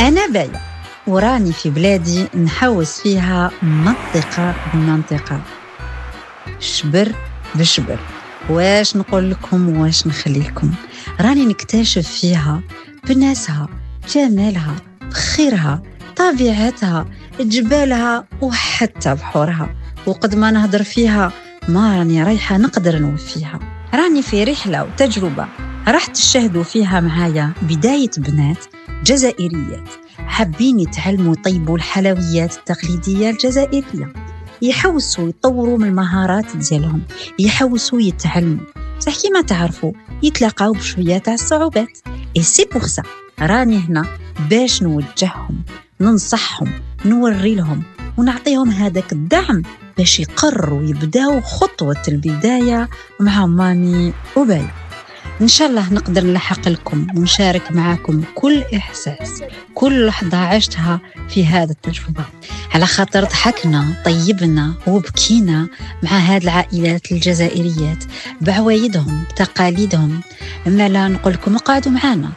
أنا باية وراني في بلادي نحوس فيها منطقة بمنطقة، شبر بشبر. واش نقول لكم واش نخلي لكم؟ راني نكتشف فيها بناسها، جمالها، بخيرها، طبيعتها، جبالها وحتى بحورها. وقد ما نهضر فيها ما راني رايحة نقدر نوفيها. راني في رحلة وتجربة راح تشاهدوا فيها معايا بداية بنات جزائريات حابين يتعلموا يطيبوا الحلويات التقليدية الجزائرية، يحوسوا يطوروا من المهارات ديالهم، يحوسوا يتعلموا، صح كيما تعرفوا يتلاقاو بشوية تاع الصعوبات. اي سي بور سا راني هنا باش نوجههم، ننصحهم، نوري لهم ونعطيهم هذاك الدعم باش يقرروا يبداو خطوة البداية مع مامي وباية. إن شاء الله نقدر نلحق لكم ونشارك معاكم كل إحساس، كل لحظة عشتها في هذا التجربة، على خاطر ضحكنا طيبنا وبكينا مع هذه العائلات الجزائريات بعوايدهم بتقاليدهم. أما لا نقول لكم اقعدوا معنا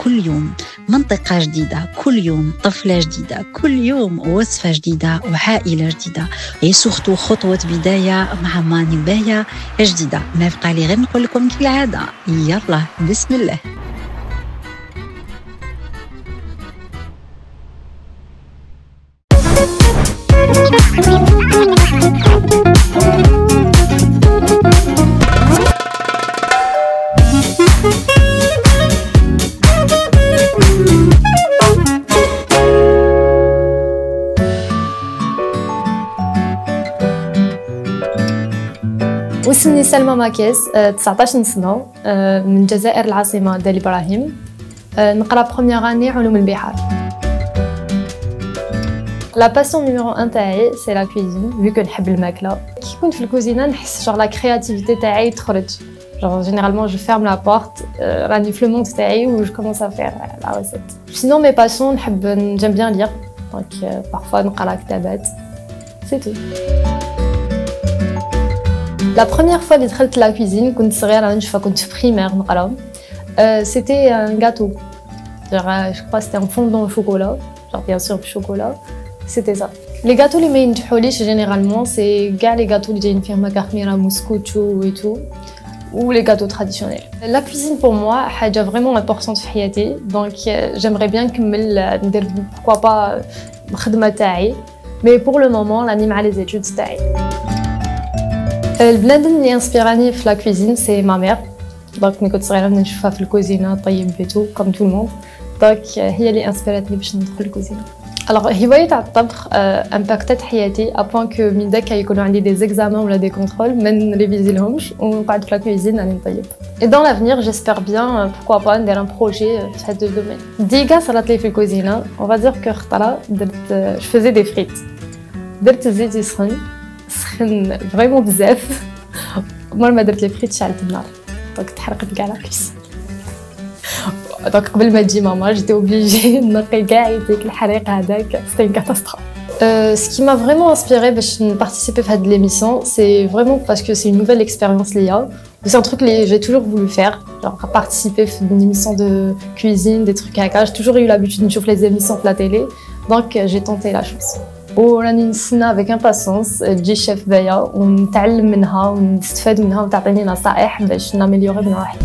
كل يوم منطقة جديدة، كل يوم طفلة جديدة، كل يوم وصفة جديدة وعائلة جديدة، وسورتو خطوة بداية مع ماني باية جديدة. ما بقى لي غير نقول لكم كالعادة يلا بسم الله. واسمي سلمى ماكيس، 19 سنة، من الجزائر العاصمة دالي إبراهيم. نقرا بروميير اني علوم البحار. لا باسيون نيميرو 1 تاعي سي لا كويزين، فيو كو نحب الماكلة. كي كنت في الكوزينة نحس جوغ لا كرياتيفيتي تاعي تخرج، جوغ جينيرالمون جو فيرم لا بورت، راني في لو موند تاعي و جو كومونس ا فير لا ريسيت. سينون مي باسيون نحب جيم بيان لير، دونك بارفوا نقرا كتابات، سي تو. La première fois اللي دخلت لا كوزين كنت صغيرة، نشوفها كنت في بريمير نقرا. C'était un gâteau. Je crois c'était un fondant au chocolat, genre bien sûr du chocolat. C'était ça. Les gâteaux اللي ما ينجحوليش généralement c'est كاع les gâteaux اللي جايين فيهم ماكا خميرة موسكوتشو et tout, ou les gâteaux traditionnels. La cuisine pour moi حاجة vraiment importante في حياتي, donc j'aimerais bien نكمل ندير pourquoi pas الخدمة تاعي, mais pour le moment راني مع les études تاعي. البنادم اللي انسبيراني في لا كوزين سي ما مير، دونك ملي كنت صغيره نشوفها في الكوزينه طيب بيتو كوم تو الموند، دونك هي اللي انسبيراتني باش ندخل الكوزينه. الوغ هوايه تاع الطبخ امباكتات حياتي ابوان كو من داك يكونوا عندي دي زيكزامان ولا دي كونترول ما نريفيزي لهمش ونقعد في لا كوزين راني نطيب. اي دون لافنير جيسبر بيان بوركوا با ندير ان بروجي في هاد الدومين. ديكا صرات لي في الكوزينه اون فا دير كو خطره درت جو فوزي دي فريت، درت الزيت يسخن سخن فريمون بزاف، عمر ما درت لي فريت شعلت النار، دونك تحرقت كاع لاكيس. دونك قبل ما تجي ماما جيتي اوبليجي نقي كاع يديك الحريق هذاك، سيتي ان كاتاستروف. Ce qui m'a vraiment inspiré باش participer à cette émission, c'est vraiment parce que c'est une nouvelle expérience liée. C'est un truc que j'ai toujours voulu faire, genre participer à une émission de cuisine, des trucs haka. J'ai toujours eu l'habitude de voir les émissions de la télé, donc j'ai tenté la chance. وراني نستنى avec impatience تجي الشيف باية ونتعلم منها ونستفاد منها وتعطيني نصائح باش ناميليوري من روحي.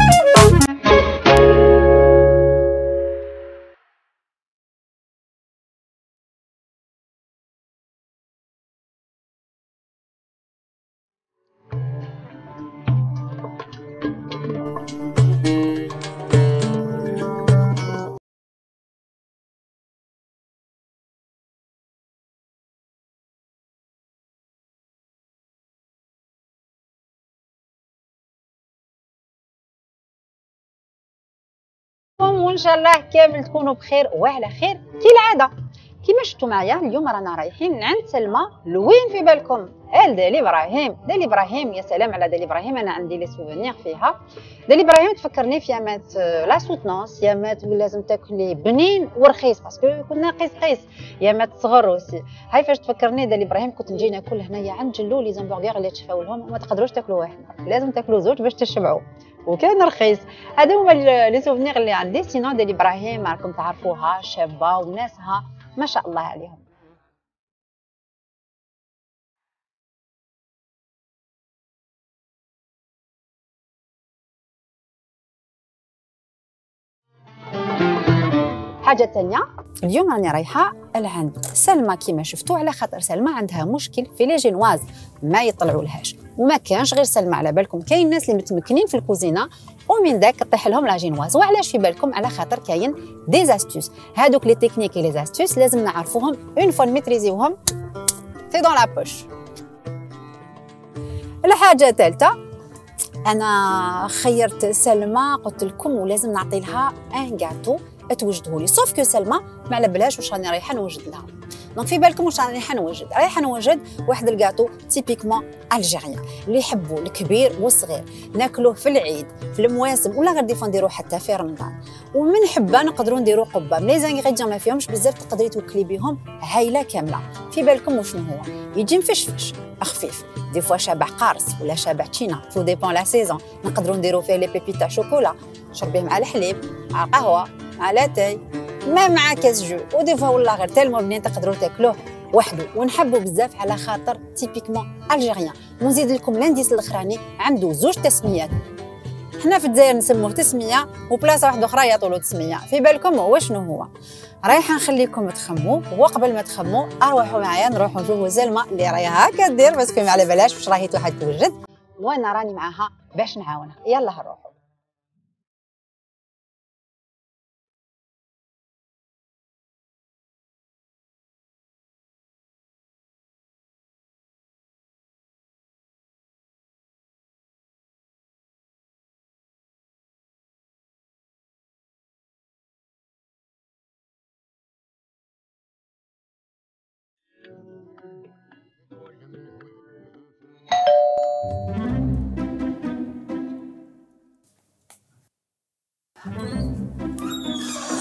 وان شاء الله كامل تكونوا بخير وعلى خير كالعاده. كيما شفتوا معايا اليوم رانا رايحين عند سلمى. لوين في بالكم؟ دالي ابراهيم. دالي ابراهيم، يا سلام على دالي ابراهيم، انا عندي لي سوفونير فيها. دالي ابراهيم تفكرني في يامات لا سوتنونس، يامات وين لازم تاكلي بنين ورخيص باسكو كنا قيس يامات صغر وسي. هاي فاش تفكرني دالي ابراهيم كنت نجي ناكل هنايا عند جلو لي زامبرغر اللي تشفاو لهم وما تقدروش تاكلوا واحد، لازم تاكلوا زوج باش تشبعوا. وكان رخيص. هذا هما لي سوفنيغ اللي عندي. سينو ديال ابراهيم راكم تعرفوها شابه وناسها ما شاء الله عليهم. حاجه ثانيه، اليوم راني رايحه لعند سلمى كيما شفتوا، على خاطر سلمى عندها مشكل في لي جينواز ما يطلعوا لهاش. وما كانش غير سلمى، على بالكم كاين ناس اللي متمكنين في الكوزينه ومن داك طيح لهم لا جينواز. وعلاش في بالكم؟ على خاطر كاين دي زاستوس. هادوك لي تكنيك لي زاستوس لازم نعرفوهم اون فوا ميتريزيوهم سي دون لا بوش. الحاجه الثالثه، انا خيرت سلمى قلت لكم ولازم نعطي لها ان غاتو توجده لي، سوف كو سلمى ما على بالهاش واش راني رايحه نوجد لها. دونك في بالكم واش راني رايحه نوجد واحد الكاطو تيبيكمون الجيريان اللي يحبوا الكبير والصغير، ناكلوه في العيد في المواسم ولا غير ديفون نديروه حتى في رمضان. ومن حبه نقدروا نديروا قبه لي زانغريديون ما فيهمش بزاف، تقدري توكلي بهم عائله كامله. في بالكم وشنو هو؟ يجي مفشفش خفيف، دي فوا شابع قارص ولا شابع تشينا، تو ديبون لا سيزون. نقدروا نديروا فيه لي بيبي تاع شوكولا، شربيه مع الحليب مع قهوه مع لاتاي ما مع كاس جو. ودي فوا والله غير تالمو بنين تقدروا تاكلوه وحده. ونحبوا بزاف على خاطر تيبيكمون الجيريان. ونزيد لكم لانديس الاخراني، عنده زوج تسميات. حنا في الجزائر نسموه تسميه وبلاصه واحده اخرى يعطولو تسميه. في بالكم هو شنو هو؟ رايحه نخليكم تخموا، وقبل ما تخموا اروحوا معايا نروحوا نشوفوا سلمى اللي راهي هكا دير باسكو ما على بلاش واش راهي واحد توجد، وانا راني معاها باش نعاونها. يلا نروحوا.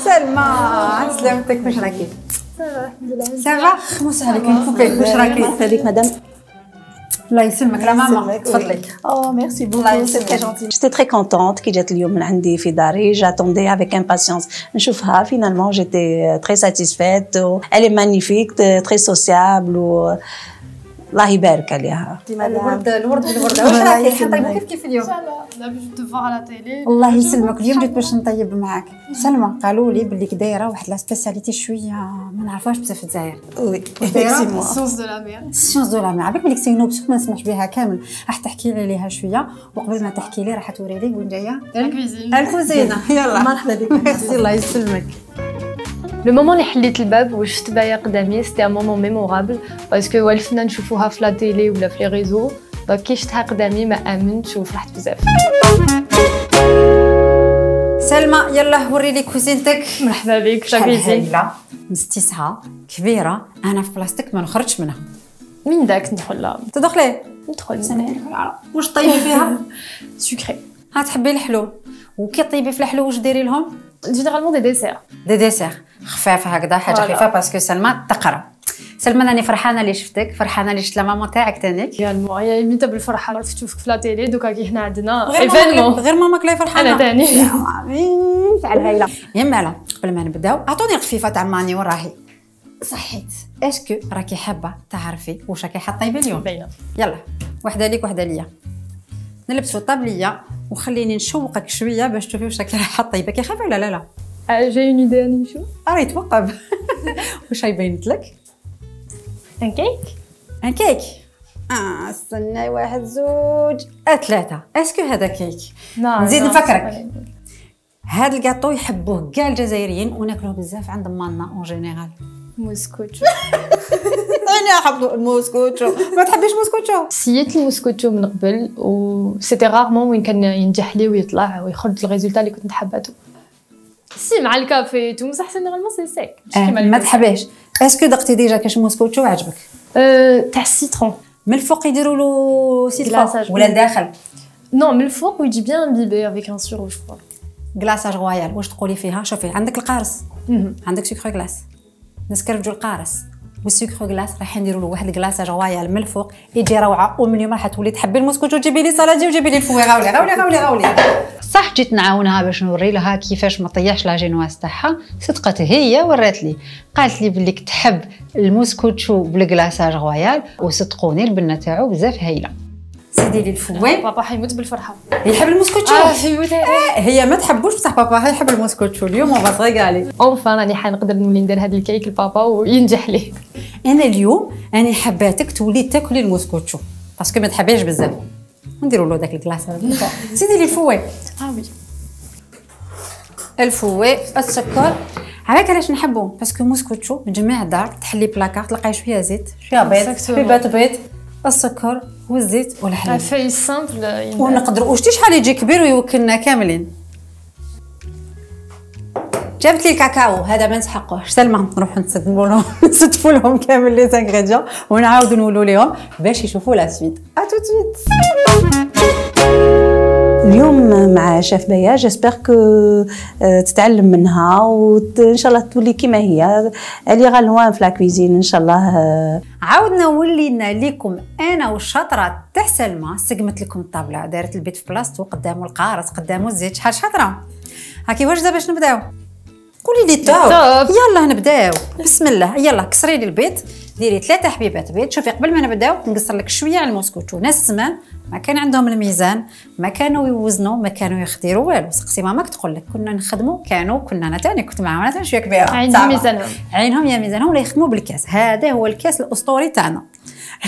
سلمى سلامتك، واش راكي؟ الحمد لله. سافا خمس عليك نكوبيك، واش راكي؟ هذيك مدام. الله يسلمك. لا ماما تفضلي. Oh merci beaucoup, c'est très gentil. J'étais très contente كي جات اليوم من عندي في داري. J'attendais avec impatience نشوفها. Finalement j'étais très satisfaite. Elle est magnifique, très sociable و الله يبارك عليها. الورد بالورده. واش راكي حنطيبوا كيف اليوم؟ ان شاء الله لا باش تفوق على تيلي. الله يسلمك. اليوم جيت باش نطيب معاك. سلمى قالوا لي باللي دايره واحد لا سبيسياليتي شويه ما نعرفوهاش بزاف في الجزائر. وي سونس دو لا مير. سيونس دو لا مير. عباك بليك سي نوبسيون ما نسمعش بها كامل. راح تحكي لي عليها شويه، وقبل ما تحكي لي راح توري لي وين جايه الكوزينه. يلا مرحبا بك. ميرسي. الله يسلمك. لو مومون اللي حليت الباب وشفت بايا قدامي سيتي ان مومون ميمورابل باسكو والفنا نشوفوها في لا تيلي ولا في لي ريزو، دونك كي شفتها قدامي ما امنتش وفرحت بزاف. سلمى يلا وري لي كوزينتك. مرحبا بك. لا كوزين مستسعه كبيره، انا في بلاصتك ما نخرجش منها. من داك ندخل تدخلي ندخل واش طيبي فيها؟ سكري. ها تحبي الحلو؟ وكي طيبي في الحلو واش ديري لهم؟ جينيرالمون دي ديسير. دي ديسير خفافه هكذا، حاجه خفيفه باسكو سلمى تقرا. سلمى راني فرحانه اللي شفتك، فرحانه اللي شفت لا ماما تاعك تانيك. ريالمون هي ميتا بالفرحه عرفت تشوفك في لا تيلي، دوكا كي حنا عندنا ايفينمون غير ماماك لا فرحانه. انا تاني تاع العائله. يا مالا قبل ما نبداو اعطوني الخفيفه تاع ماني وراهي صحيت. اسكو راكي حابه تعرفي واش راكي حطيبي اليوم؟ باينه. يلا وحده ليك وحده ليا. نلبسوا الطابليه وخليني نشوقك شويه باش تشوفي واش راكي رايحه طيبه. كي خايفه ولا لا؟ جاي اون ايدي اني نشوف. ريت وقب. واش يبينت لك؟ ان كيك. ان كيك. استنى واحد زوج ثلاثه. اسكو هذا كيك؟ نزيد نفكرك. هذا الكاطو يحبوه كاع الجزائريين وناكلوه بزاف عند مالنا اون جينيرال. موسكوتشو. انا نحب الموسكوتشو. ما تحبيش موسكوتشو؟ سيت الموسكوتشو من قبل و سيتي رارمون وين كان ينجح لي ويطلع ويخرج الريزولتا اللي كنت نحباتو. سي مع الكافي تو بصح جينيرالمون سي سيك. ما تحبيش. اسكو دقتي ديجا كاش موسكوتشو عجبك؟ تاع السيترون. من الفوق يديروا له سيترون ولا الداخل؟ نو من الفوق ويجي بيان امبيبي افيك ان سيرو جو كرو. كلاصاج رويال واش تقولي فيها؟ شوفي عندك القارص، عندك سكر كلاس، نسكرفجو القارص والسكر غلاس راح نديروا له واحد كلاصاج رويال من الفوق يجي روعه. ومن اليوم راح تولي تحبي المسكوتشو جيبي لي سالادي وجيبي لي الفوي. غاولي صح جيت نعاونها باش نوري لها كيفاش ما طيحش لاجينواز تاعها. صدقت هي ورات لي قالت لي بلي تحب المسكوتشو بالكلاصاج رويال، وصدقوني البنه تاعو بزاف هايله. سيدي لي الفوي. بابا حيموت بالفرحه يحب المسكوتشو. حيموت. هي ما تحبوش بصح بابا يحب المسكوتشو. اليوم اون فا تريغالي. اونفان راني حنقدر نولي ندير هذا الكيك لبابا وينجح ليه. انا اليوم انا حباتك تولي تاكلي المسكوتشو باسكو ما تحبيش بزاف. نديروا له داك الكلاصه. سيدي لي الفوي. وي الفوي السكر. علاش علاش نحبو؟ باسكو مسكوتشو من جميع الدار تحلي بلاكار تلقاي شويه زيت شويه بيض حبيبات بيض السكر والزيت والحليب. في سامبل ونقدروا وشتي شحال يجي كبير ويوكلنا كاملين. جابت لي الكاكاو هذا ما نسحقوه. سلمى نروحوا نستفوا لهم كامل لي زانغريديون ونعاودوا نقولوا لهم باش يشوفوا لا سويت. تو سويت. اليوم مع شيف بيا جيسبر كو تتعلم منها وان شاء الله تولي كيما هي اللي غالوان في لا كويزين ان شاء الله. عاودنا ولينا لكم انا والشاطره تاع سلمى. سقمت لكم الطابله دارت البيت في بلاصتو قدامه القارص قدامه الزيت. شحال شاطره. هاكي واش دابا باش نبداو؟ قولي لي توب. يلا نبداو بسم الله. يلا كسري لي البيض ديري 3 حبيبات بيض. شوفي قبل ما نبداو نقصر لك شويه على المسكوتشو. ناس زمان ما كان عندهم الميزان ما كانوا يوزنوا ما كانوا يخدروا والو. سقسي ماماك تقول لك كنا نخدموا كنا انا تاني كنت معاهم انا تاني شويه كبيره عندي ميزانهم عينهم يا ميزانهم ولا يخدموا بالكاس. هذا هو الكاس الاسطوري تاعنا.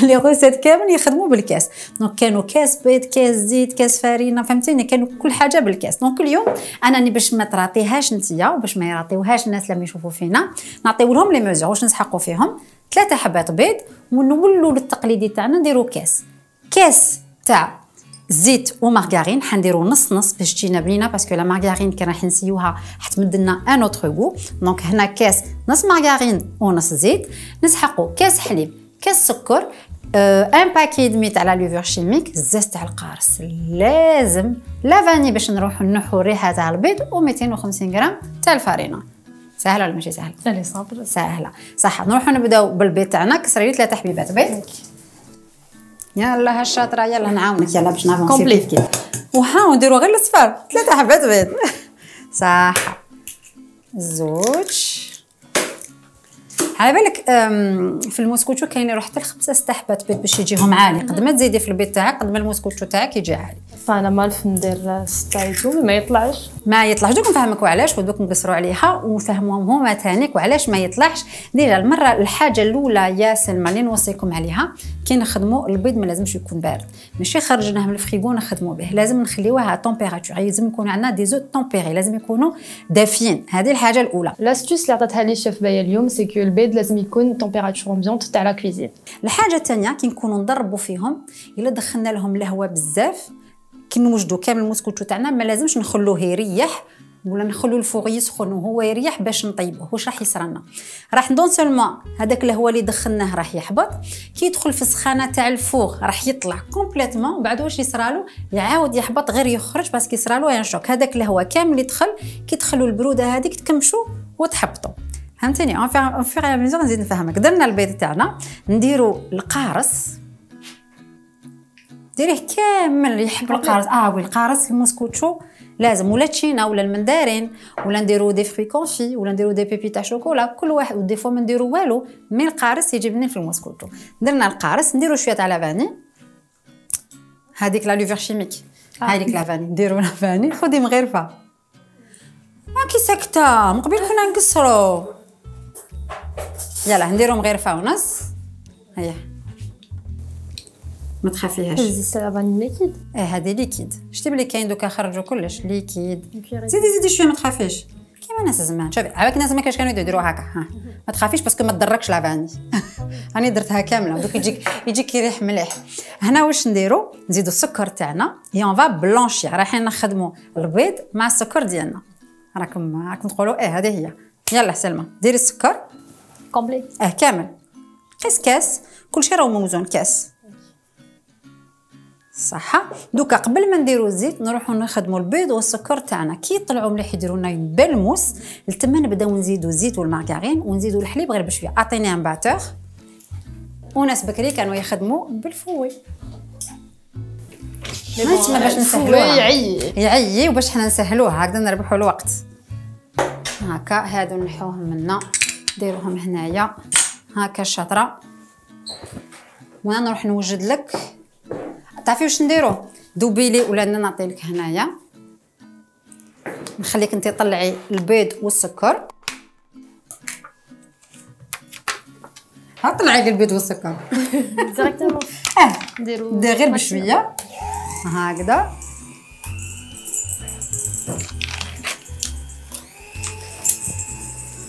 لي غوسيت كامل يخدموا بالكاس. دونك كانوا كاس بيض كاس زيت كاس فارينه فهمتيني كانوا كل حاجه بالكاس. دونك اليوم انا باش ما تراطيهاش نتيا وباش ما يراطيوهاش الناس لما يشوفوا فينا نعطيو لهم لي ميزور واش نسحقوا فيهم. 3 حبات بيض ونولوا للتقليدي تاعنا نديروا كاس تاع زيت ومارغارين. حنديروا نص باش تجينا بنينه باسكو لا مارغارين كي راح نسيوها حتمد لنا ان اوتر غو. دونك هنا كاس نص مارغارين ونص زيت. نسحقوا كاس حليب كاس سكر ان باكي دمي تاع لا لوفور شيميك الزاز تاع القارص لازم لا فاني باش نروحوا نحوا الريحه تاع البيض و250 غرام تاع الفارينه. سهله ولا ماشي سهله؟ سهله صابر سهله صح. نروحوا نبداو بالبيض تاعنا. كسري لي 3 حبيبات بيض. يلا هالشاطره يلا نعاونك يلا باش نعرفوا كومبليت وها نديروا غير الصفار 3 حبات بيض صح. زوج على بالك في المسكوتشو كاين يروح حتى 5-6 حبات بيض باش يجيهم عالي. قد ما تزيدي في البيض تاعك قد ما المسكوتشو تاعك يجي عالي. فانا مالف ندير 6 ما يطلعش دوك نفهمك وعلاش ودوك نقصروا عليها ونفهموهم هما ثانيك وعلاش ما يطلعش. ديجا المره الحاجه الاولى يا سلمى اللي نوصيكم عليها كي نخدموا البيض ما لازمش يكون بارد. ماشي خرجناه من الفريغو نخدموا به لازم نخليوه على تمبيراتور. لازم يكون عندنا دي زو تمبيري لازم يكونوا دافيين. هذه الحاجه الاولى. لاستوس اللي عطاتها لي شيف بيا اليوم سي كو البيض لازم يكون تمبيراتور امبيونت تاع لا كويزين. الحاجه الثانيه كي نكونوا نضربوا فيهم الا دخلنا لهم الهواء بزاف كي نوجدوا كامل المسكوتشو تاعنا ما لازمش نخلوه يريح ولا نخلو الفوغ يسخن وهو يريح باش نطيبوه. واش راح يصرالنا؟ راح ندون سولمون هذاك الهواء اللي دخلناه راح يحبط كي يدخل في السخانه تاع الفوغ راح يطلع كومبليتمون. بعد واش يصرالو يعاود يحبط غير يخرج باسكو يصرالو ان شوك. هذاك الهواء كامل يدخل كي تدخلوا البروده هذيك تكمشوا وتحبطوا. فهمتني؟ اون فيغ يا ميزور نزيد نفهمك. درنا البيض تاعنا نديروا القارص ديريه كامل يحب القارص. وي القارص المسكوتشو لازم ولا تشينا ولا المندارين ولا نديرو دي فري كونفي ولا نديرو دي بيبي تاع شوكولا كل واحد. ودي فوا ما نديرو والو مي القارص يجي بنين في المسكوتشو. درنا القارص نديرو شويه تاع لافاني هذيك لا لوفور شيميك هذيك لافاني نديرو لافاني. خدي مغرفه كي ساكته من قبل كنا نقصرو. يلا نديرو مغرفه ونص. هيا ما تخافيهاش. هذه لافاني ليكيد. هذه ليكيد. شتي بلي كاين دوكا خرجوا كلش ليكيد. زيدي شويه ما تخافيش كيما ناس زمان. شوفي عاوك الناس ما كاش كانوا يديروا هكا. ما تخافيش باسكو ما تضركش لافاني. راني درتها كامله دوك يجيك يريح مليح. هنا واش نديرو نزيدو السكر تاعنا اي اون فا بلونشي. رايحين نخدموا البيض مع السكر ديالنا. راكم تقولوا هذه هي. يلا سلمى ديري السكر كومبليت كامل كاس كلشي راه موزون كاس صح. دوكا قبل ما نديرو الزيت نروحو نخدمو البيض والسكر تاعنا كي يطلعوا مليح يديروا لنا بالموس. لتما نبداو نزيدو الزيت والمارغارين ونزيدو الحليب غير بشويه. اعطيني ان باتور وناس بكري كانوا يخدموا بالفوي. ما باش نسهلوها يعيي وباش حنا نسهلوها هكذا نربحوا الوقت. هكا هادو نحوهم منا نديروهم هنايا هكا الشطره. وانا نروح نوجد لك تعرفي واش نديرو دوبيلي ولا انا نعطي لك هنايا نخليك انت طلعي البيض والسكر. طلعي لي البيض والسكر ديريكتومون نديرو غير بشويه هكذا.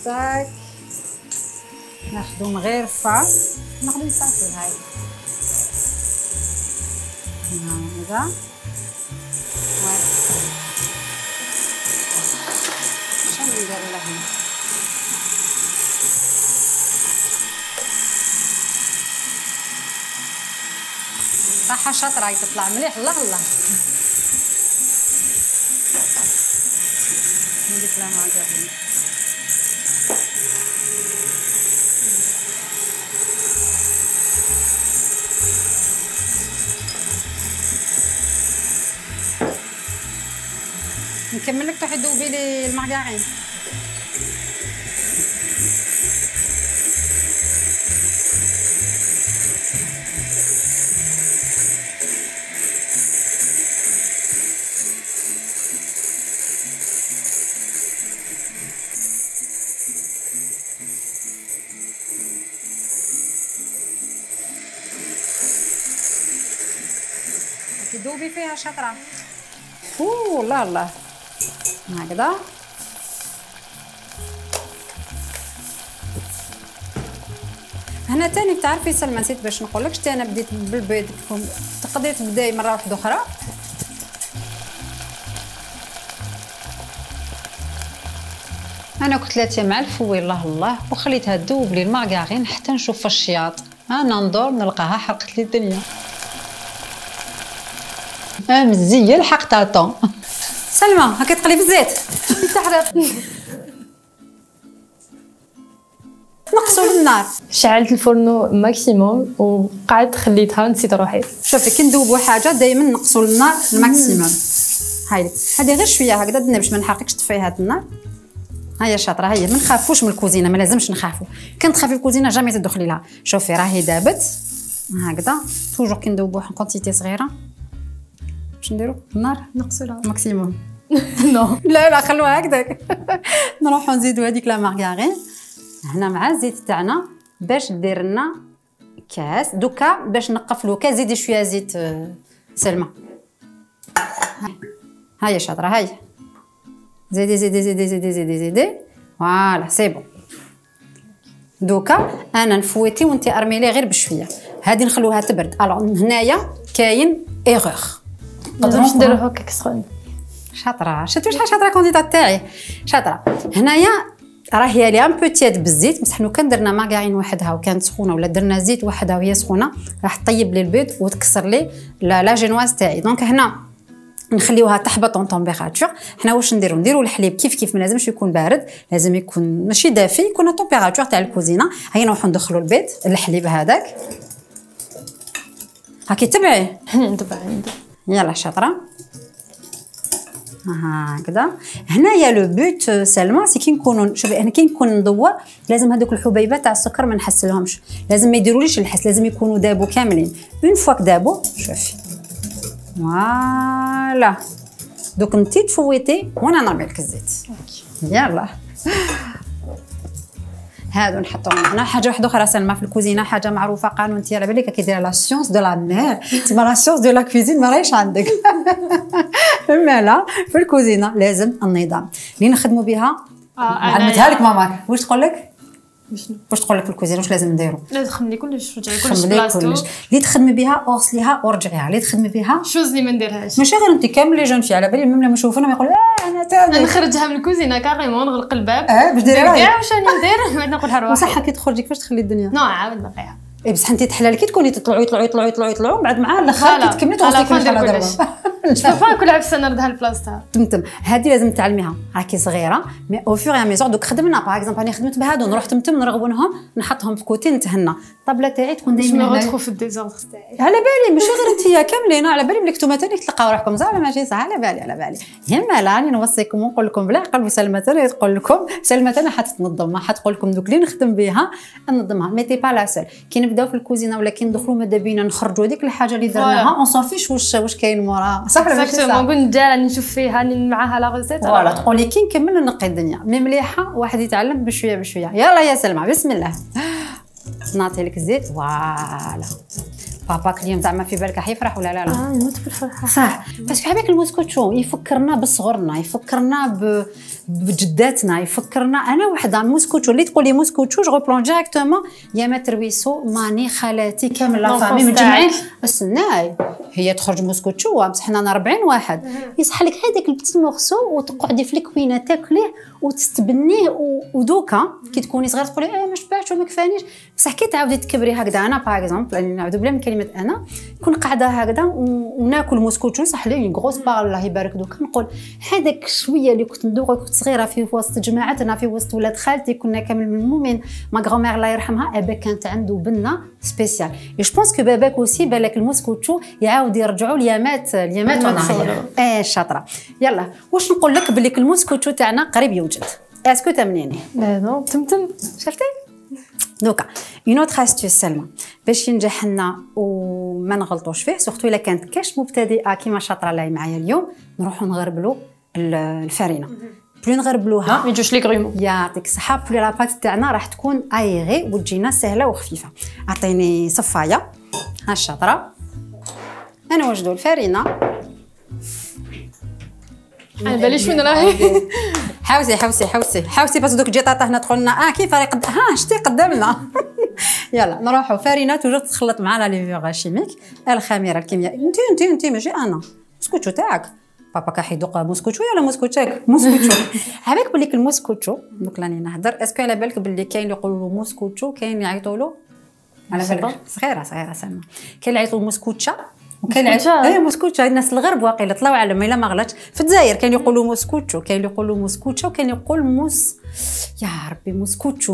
تاك ناخذو مغرفه ناخذو صافي هاي هكذا. شنو ندير لهم صح شاطره تطلع مليح. الله الله ندير لها معجون. نكمل لك تروحي تذوبي لي المارغرين. تذوبي فيها شطره. الله الله هكذا. هنا تاني بتعرفي سلمى نسيت باش نقولك شتي انا بديت بالبيض. تقدري تبداي مره واحده اخرى. انا كنت لاتيه مع الفوي الله الله وخليتها تذوب لي المارغرين حتى نشوف الشياط. انا ندور نلقاها حرقت لي الدنيا. مزيه الحق طاطون. سلمى هاكا تقلي في الزيت تحرق. نقصوا النار. شعلت الفرن ماكسيموم وقعدت خليتها نسيت روحي. شوفي كي ندوبوا حاجه دائما نقصوا النار الماكسيموم. هاي هذه غير شويه هكذا درنا باش ما نحرقكش. طفي هاد النار. هيا شاطره. هيا ما نخافوش من الكوزينه ما لازمش نخافوا. كان تخافي الكوزينه جامي تدخلي لها. شوفي راهي دابت هكذا. توجور كي ندوبوا كونتيتي صغيره باش نديروا النار نقصوا ماكسيموم. نو لا خلوها هكذاك. نروحو نزيدو هذيك لا مارغرين هنا مع الزيت تاعنا باش دير لنا كاس. دوكا باش نقفلو كاس زيدي شويه زيت سلمى. هاي شاطره. هاي زيدي زيدي زيدي زيدي زيدي زيدي. فوالا سي بون. دوكا انا نفويتي وانت ارميلي غير بشويه. هادي نخلوها تبرد. الوغ هنايا كاين ايغور. نقدروا نديرو هكاك سخون. شاطره. شفتي شحال شاطره كونديطات تاعي شاطره. هنايا راهي لي ان بو تياد بالزيت بصح لو كان درنا مارغرين وحدها وكانت سخونه ولا درنا زيت وحدها وهي سخونه راح تطيب لي البيض وتكسر لي لا جينواز تاعي. دونك هنا نخليوها تحبط اون تمبيراتور. حنا واش نديرو الحليب كيف ما لازمش يكون بارد لازم يكون ماشي دافي يكون التمبيراتور تاع الكوزينه. هيا نروحو ندخلو البيض الحليب هذاك هاكي تبعي. نتبع يلا شاطره هكذا. هنايا لو بوت سلمى سي كي نكونوا شوفي انا كي نكون نضوى لازم هذوك الحبيبات تاع السكر ما نحسلهمش. لازم ما يديروليش الحس. لازم يكونوا دابو كاملين. اون فوا دابو شوفي فوالا. دوك انتي تفويتي وانا نرمي لك الزيت. يلا هادو نحطوهم هنا. حاجه واحده اخرى سلمى في الكوزينه حاجه معروفه قانون انت على بالك كيدير لا سيونس دو لا مير. تما لا سيونس دو لا كوزين ما راهيش عندك. مالا في الكوزينه لازم النظام اللي نخدموا بها. علمتها لك ماماك. واش تقول لك؟ واش تقول لك في الكوزينه واش لازم نديرو؟ لازم تخملي كلش رجعي كلش بلاصتو. اللي تخدمي بها اغسليها ورجعيها. اللي تخدمي بها شوز اللي ما نديرهاش. ماشي غير انت كامل لي جون في على بالي ميم لما يشوفونا يقولوا انا تاني نخرجها من الكوزينه كاريمون نغلق الباب. باش ديري كاع واش راني ندير بعد نقولها روحي. بصح كي تخرجي كيفاش تخلي الدنيا؟ نو عاود نقيها. اي بصح انت تحلال كي تكوني تطلعوا بعد مع الاخر كي تكملي توصلي كل حاجه شوفها كل عفسه نردها لبلاصتها. تمتم هذه لازم تعلميها. راكي صغيره مي او فور يا ميزور دوك خدمنا باغ اكزومبل انا خدمت بهادو نروح تمتم نرغبونهم نحطهم في كوتي نتهنى الطابله تاعي تكون جو دائما مي ريتروف في الديزوردر تاعي. على بالي ماشي غير انت كاملين، على بالي بلي نتوما ثاني تلقاو روحكم زعما ماشي صح. على بالي يما راني نوصيكم ونقول لكم بالعقل، وسلمى ثاني تقول لكم، سلمى ثاني حتنظم، حتقول لكم دوك اللي نخدم بها ننظمها. ميتي با لا سول كي نبداو في الكوزينه ولا كي ندخلوا ماذا بينا نخرجوا هذيك الحاجه اللي درناها اون صافيش واش كاين موراها، صح ولا ماشي صح؟ نقول ندير راني نشوف فيها معاها لا ريسيت فوالا تقولي كي نكمل نقي الدنيا. مي مليحه واحد يتعلم بشويه بشويه. يلا يا سلمى بسم الله، نعطي لك الزيت. فوالا باباك اليوم زعما في بالك راح يفرح ولا لا؟ يموت بالفرحه صح. بس هذاك الموسكوتشو يفكرنا بصغرنا، يفكرنا بجداتنا، يفكرنا. انا وحده موسكوتشو اللي تقولي موسكوتشو جو بلون ديريكتومون يا ما ترويسو ماني خالاتي كامل لا فامي متجمعين. استناي هي تخرج موسكوتشو بصح حنا 40 واحد يصح لك هذاك البتي مورسو وتقعدي في الكوينه تاكليه وتستبنيه. ودوكا كي تكوني صغيره تقولي ما شبعتش وما كفانيش، بصح كي تعاودي تكبري هكذا. انا باغ اكزومبل نعاودو بلا من كلمه انا كون قاعده هكذا وناكل موسكوتشو صح لي غروس بار الله يبارك دوكا نقول هذاك شويه اللي كنت ندوق كنت صغيره في وسط جماعتنا في وسط ولاد خالتي كنا كامل ملمومين. ما غرومير الله يرحمها ابا كانت عنده بنه سبيسيال. جو بونس كو باباك اوسي بالك الموسكوتشو يعاود يرجعوا اليامات وانا شاطره. يلا واش نقول لك بلي الموسكوتشو تاعنا قريب يوجد. اسكو تمنيني؟ لا نو تمتم شفتي دوكا اون اوتر استيس سلمى باش ينجح لنا وما نغلطوش فيه، سورتو الا كانت كاش مبتدئه كيما شاطره لاي معايا اليوم نروحوا نغربلوا الفرينه. بلو نغربلوها ما يجوش لي غرومو يعطيك الصحه، بلو لاباط تاعنا راح تكون ايغي وتجينا سهله وخفيفه. عطيني صفايه ها الشاطره. انا وجدوا الفرينه على باليش وين راهي. حوسي بس دوك جيطاطا هنا دخلنا كيف راه شتي قدامنا. يلا نروحوا فرينه توجور تخلط معنا لي فيغ شيميك الخميره الكيميائيه. انت ماشي انا موسكوتشو تاعك بابا كاح يدوق موسكوتشو ولا موسكوتشاك موسكوتشو. عباك بليك الموسكوتشو دوك راني نهضر. اسكو على بالك بلي كاين اللي يقولوا موسكوتشو كاين اللي يعيطوا له على بالك صغيره سلمى كاين اللي يعيطوا موسكوتشا وكاين اي موسكوتشا. الناس الغرب واقيلا طلعوا على ما الا ما غلطش في الجزائر كاين يقولوا موسكوتشو كاين يقولوا موسكوتشا وكاين يقول يا ربي موسكوتشا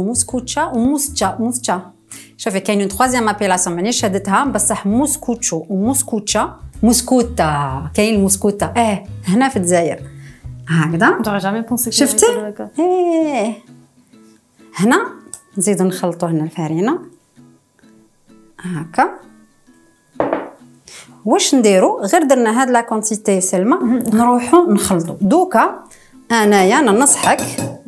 وموسكوتشا. شوفي كاين اون ثروازيام ابيلاسيون مانيش شهدتها بصح موسكوتشو وموسكوتشا موسكوتا. كاين الموسكوتا هنا في الجزائر هكذا. شفتي هنا نزيدو نخلطوا هنا الفرينه هكا. واش نديرو غير درنا هاد لا كونتيتي سلمى نروحو نخلطو. دوكا انايا ننصحك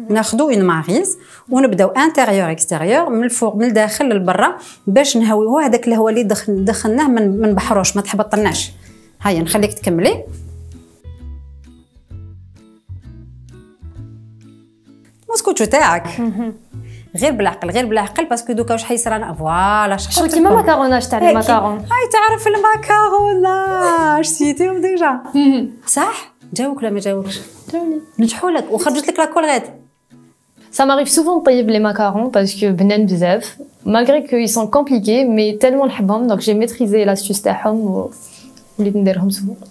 ناخدو اون ماريز ونبداو انتيريور اكستيريور من الفوق من الداخل للبرا باش نهويوه. هذاك الهواء اللي دخلناه ما نبحروش ما تحبطناش. هيا نخليك تكملي. موسكوتشو تاعك غير بالعقل باسكو دوكا واش حيصرا فوالا شغل كيما ماكاروناج تاع الماكارون. هاي تعرف الماكاروناج سيتيهم ديجا صح. جاوك ولا ما جاوكش؟ جاوني نجحوا لك وخرجت لك لاكول غاد. Ça m'arrive souvent de طيب les macarons parce que بنان بزاف malgré que ils sont compliqués mais tellement نحبهم donc j'ai maîtrisé l'astuce تاعهم وليت نديرهم souvent.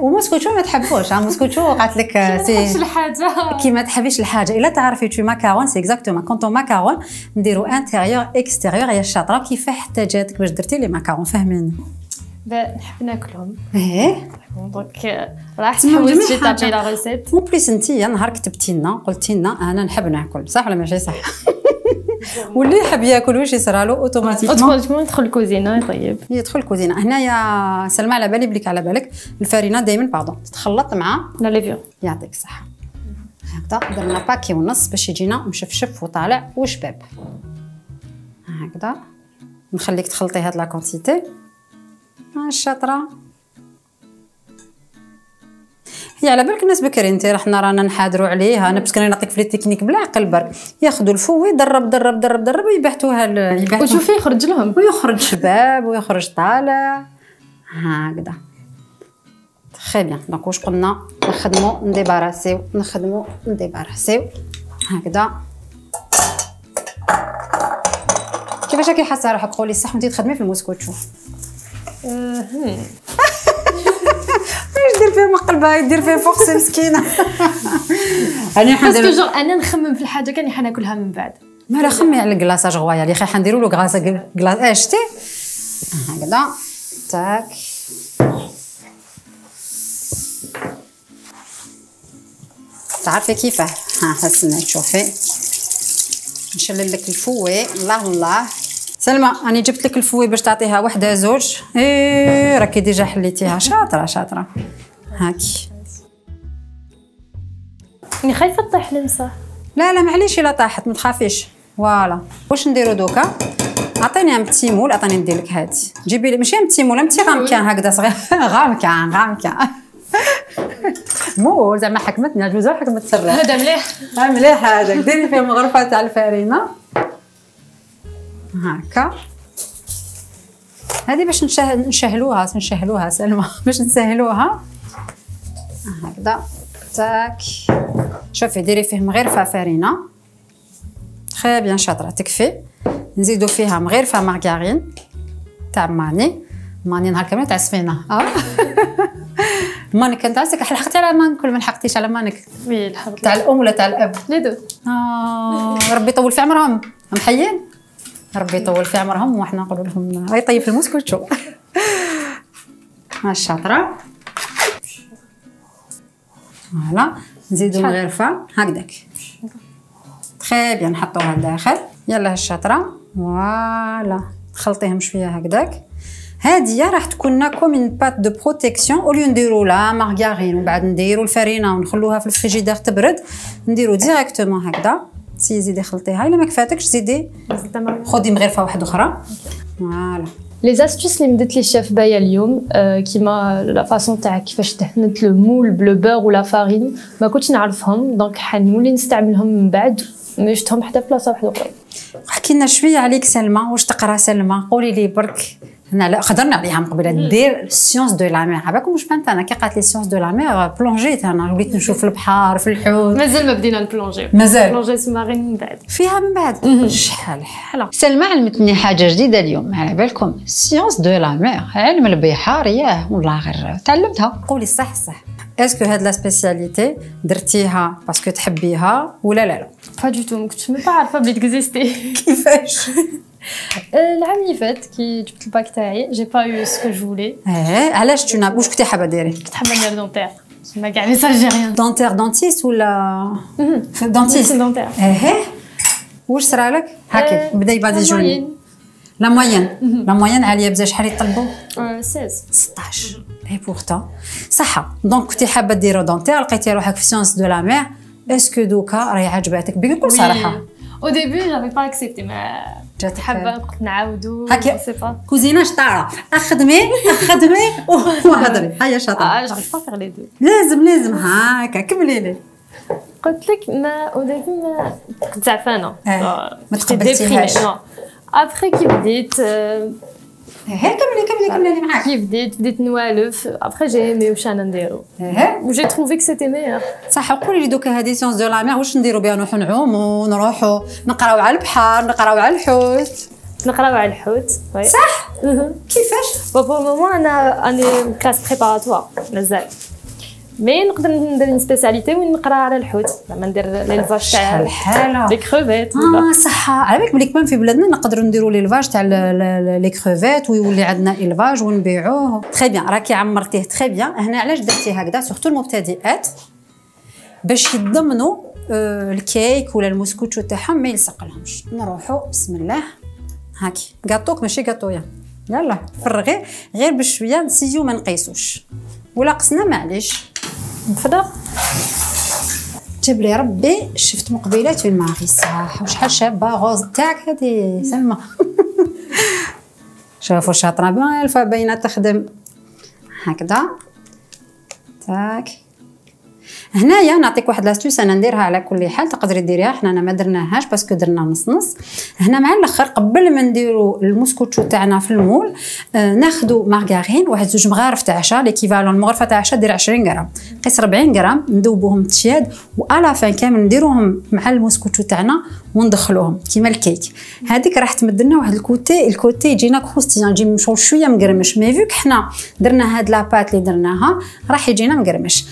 وموسكوتشو ما تحبوش موسكوتشو قالت لك سي الحاجه كي ما تحبيش الحاجه الا تعرفي تو ماكارون سي اكزاكتومون كونطو ماكارون نديرو انتيريور اكستيريور. يا الشاطره كيف احتاجاتك باش درتي لي ماكارون فاهمين؟ نحب ناكلهم دونك راح تحاولي تابي لا ريسيت. اون بليس انتي نهار كتبتي لنا قلتي لنا انا نحب ناكل صح ولا ماشي صح؟ واللي يحب ياكل واش يصرالو اوتوماتيكمون يدخل الكوزينه يطيب يدخل الكوزينه. هنايا سلمى على بالي بليك على بالك الفرينه دائما تتخلط مع لا ليفيون. يعطيك الصحه. هكذا درنا باكي ونص باش يجينا مشفشف وطالع وشباب هكذا. نخليك تخلطي هاد لا كونتيتي الشاطره. هي على بالك الناس بكري انت رانا نحاضروا عليها. انا باسكو نعطيك في لي تكنيك بالعقل برك ياخذوا الفو يدرب ويبحثوها وشوفي يخرج لهم ويخرج شباب ويخرج طالع هكذا. تري بيان. دونك واش قلنا نخدموا نديباراسيو هكذا. كيفاش راكي حاسه روحك؟ قولي صح وانتي تخدمي في الموسكوتشو. يدير فيه مقلبه يدير فيه فوق مسكينه. انا حندير باسكو انا نخمم في الحاجه كاني حناكلها من بعد مالا خمي على الكلاصاج غوايه اللي خايحه نديروا له كلاص شتي هكذا تاك تعرفي كيفاه ها هسنا تشوفي نشلل لك الفوي. الله سلمى راني جبت لك الفوي باش تعطيها وحده زوج. راكي ديجا حليتيها شاطره هاكي. راني خايفه تطيح لمسه. لا معليش الا طاحت ما تخافيش. فوالا واش نديرو دوكا؟ عطيني ان بتي مول. عطيني ندير لك هادي جيبي لي ماشي ان بتي مول بتي غامكان هكذا صغير غامكان مول زعما حكمتني الجوزه حكمت سرها. هذا مليح هذا. ديري فيه مغرفه تاع الفرينه هكا. هذه باش نشهلوها سلمى باش نسهلوها هكذا تاك. شوفي ديري فيه مغرفه فرينه تري بيان شاطره تكفي. نزيدو فيها مغرفه مارغارين تاع ماني نهار كامل تعسفينا. مانك انت عسك لحقتي على مانك ولا ما لحقتيش على مانك؟ وي لحقت. تاع الام ولا تاع الاب؟ لي دو. ربي يطول في عمرهم. محيين ربي يطول في عمرهم وحنا نقولوا لهم هاي طيب في المسكوتشو. ها الشاطره. فوالا نزيدو مغرفه هكذاك تري بيان نحطوها لداخل. يلا الشاطره. فوالا تخلطيهم شويه هكذاك. هادية راح تكون كوم اون بات دو بروتيكسيون اوليو نديرو لا مارغارين ومن بعد نديرو الفرينه ونخلوها في الفريجيدير تبرد. نديرو ديريكتومون هكذا. زيدي خلطيها الا ما كفاتكش زيدي خدي مغرفه واحده اخرى. فوالا لي زاستوس اللي مدت لي الشيف بايا اليوم كيما لا فاصون تاع كيفاش تحنت لو مول بلو بور ولا فارين ما كنتش نعرفهم دونك حنولي نستعملهم من بعد مشتهم حتى في بلاصه واحده اخرى. احكي لنا شويه عليك سلمى. واش تقرا سلمى؟ قولي لي برك. هنا لا خضرنا عليها من قبل دير سيونس دو لا مير. عباكم واش فهمت انا كي قالت لي سيونس دو لا مير بلونجيت انا وليت نشوف البحر في الحوت. مازال ما بدينا نبلونجي. بلونجي سومارين من بعد. فيها من بعد. شحال حاله. سلمى علمتني حاجه جديده اليوم على بالكم. سيونس دو لا مير علم البحار ياه والله غير تعلمتها. قولي صح. اسكو هاد لا سبيسياليتي درتيها باسكو تحبيها ولا لا؟ با دو تو ما كنتش عارفه بلي تكزيستي. كيفاش؟ العام اللي فات كي جبت الباك تاعي جي با يو سكو جو فولي. علاش واش كنتي حابه ديري؟ كنت حابه ندير دونتير ما كاع لي سالجيريان. دونتير دونتيست ولا دونتيست؟ دونتير. واش صرالك؟ هاكي بدا يبان جوني. لا موين عاليه بزاف. شحال يطلبوا؟ 16. اي بورتون صح. دونك كنتي حابه ديرو دونتير لقيتي روحك في سيونس دو لا مير. اسكو دوكا راهي عجباتك بكل صراحه؟ او ديبي جافي با اكسبتي ما جات حابه قلت نعاودو سي با كوزينه شطاره. اخدمي وهضري. هيا شاطره. جافي با فيغ لي دو. لازم هاكا كملي لي. قلت لك ما او ديبي ما كنت زعفانه ما تقبلتيهاش. ابخي كي بديت كملي معاك. كي بديت نوالف ابخي جي ايمي واش انا نديرو وجي تروفي كو سيتي ميور. صح. قولي لي دوكا هادي سيونس دو لا مير واش نديرو بها؟ نروحو نعومو نروحو نقراو على البحر نقراو على الحوت. صح. كيفاش؟ بور مومون انا اني كلاس بريباراتوار مازال مي نقدر ندير سبيسياليتي وين نقرا على الحوت زعما ندير ليلفاج تاع الحاله لي كروفيت. صح. على بالك بلي كمان في بلادنا نقدروا نديروا ليلفاج تاع لي كروفيت ويولي عندنا إلفاج ونبيعوه. تري بيان راكي عمرتيه تري بيان. هنا علاش درتي هكذا سورتو المبتدئات باش يضمنوا الكيك ولا المسكوتشو تاعهم ما يلصقلهمش. نروحوا بسم الله هاكي غاتوك ماشي غاتويا. يلا فرغي غير بشويه نسيو ما نقيسوش ولا قسنا معليش. نفضل جاب لي ربي شفت مقبلات وين ماغي صح وشحال شابه غوز تاعك هذه سلمى. شوفوا شاطره بيان الفا باينه تخدم هكذا تاك. هنايا نعطيك واحد لاستوس انا نديرها على كل حال تقدري ديريها. حنا ما درناهاش باسكو درنا نص. هنا مع الاخر قبل ما نديرو المسكوتشو تاعنا في المول ناخذوا مارغارين واحد زوج مغارف تاع عشا ليكيفالون المغرفه تاع عشا دير 20 غرام قيس 40 غرام ندوبوهم تشياد والا فان كامل نديروهم مع المسكوتشو تاعنا وندخلوهم كيما الكيك. هذيك راح تمد لنا واحد الكوتي يجينا كروستيان يجي مشغول شويه مقرمش. مي فيك حنا درنا هاد لاباط اللي درناها راح يجينا مقرمش.